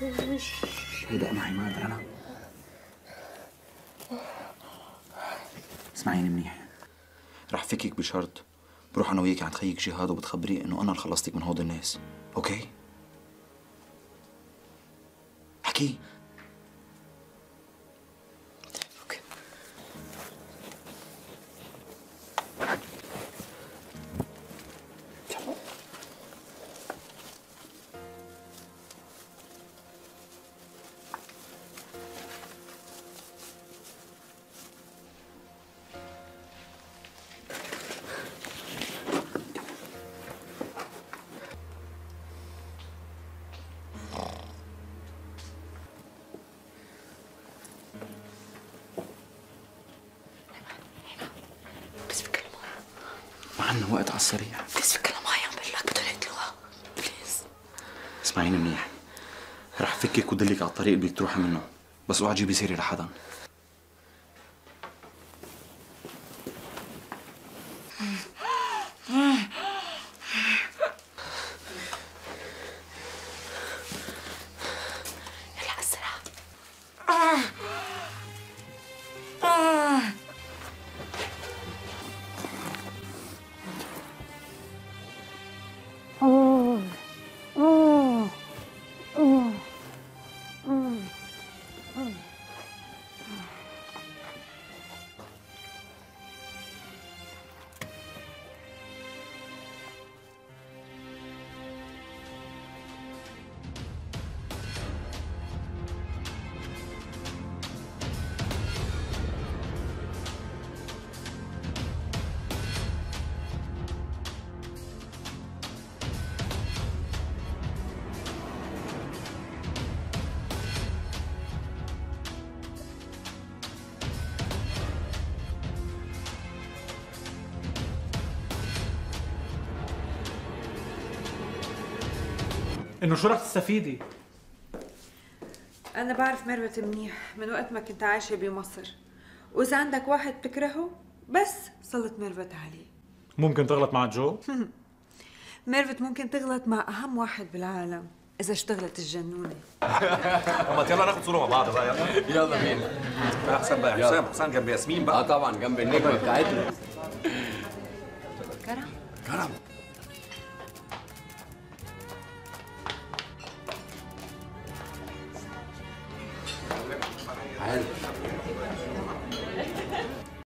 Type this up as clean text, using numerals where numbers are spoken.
هيدأ معي، ما أقدر أنا. اسمعيني منيح، رح فكك بشرط، بروح أنا وياكي عند خيك جهاد وبتخبريه إنه أنا اللي خلصتك من هود الناس، أوكي؟ حكي. اوكي. ما عنا وقت على السريع. بليز فكرنا معي، عم بقول لك بدهم يقتلوها. بليز. اسمعيني منيح، رح فكك ودلك على الطريق اللي بدك تروحي منه، بس اوعى تجيبي سيرة لحدا. يلا أسرع. انه شو رح تستفيدي؟ أنا بعرف ميرفت منيح من وقت ما كنت عايشة بمصر، وإذا عندك واحد بتكرهه بس سلط ميرفت عليه. ممكن تغلط مع جو؟ ميرفت ممكن تغلط مع أهم واحد بالعالم إذا اشتغلت الجنونة. طب يلا ناخد صورة مع بعض بقى. يلا يلا بينا. أحسن بقى يا حسام، حسام جنب ياسمين بقى. طبعا جنب النجمة بتاعتنا. كرم كرم.